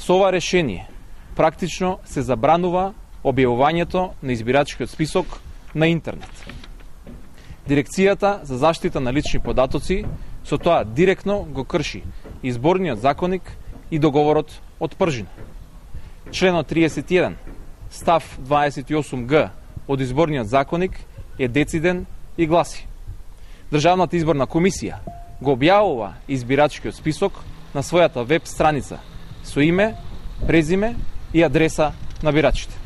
Со ова решение практично се забранува објавувањето на избирачкиот список на интернет. Дирекцијата за заштита на лични податоци со тоа директно го крши изборниот законник и договорот од Пржина. Членот 31, став 28г од изборниот законник е дециден и гласи: Државната изборна комисија го објавува избирачкиот список на својата веб страница со име, презиме и адреса на бирачите.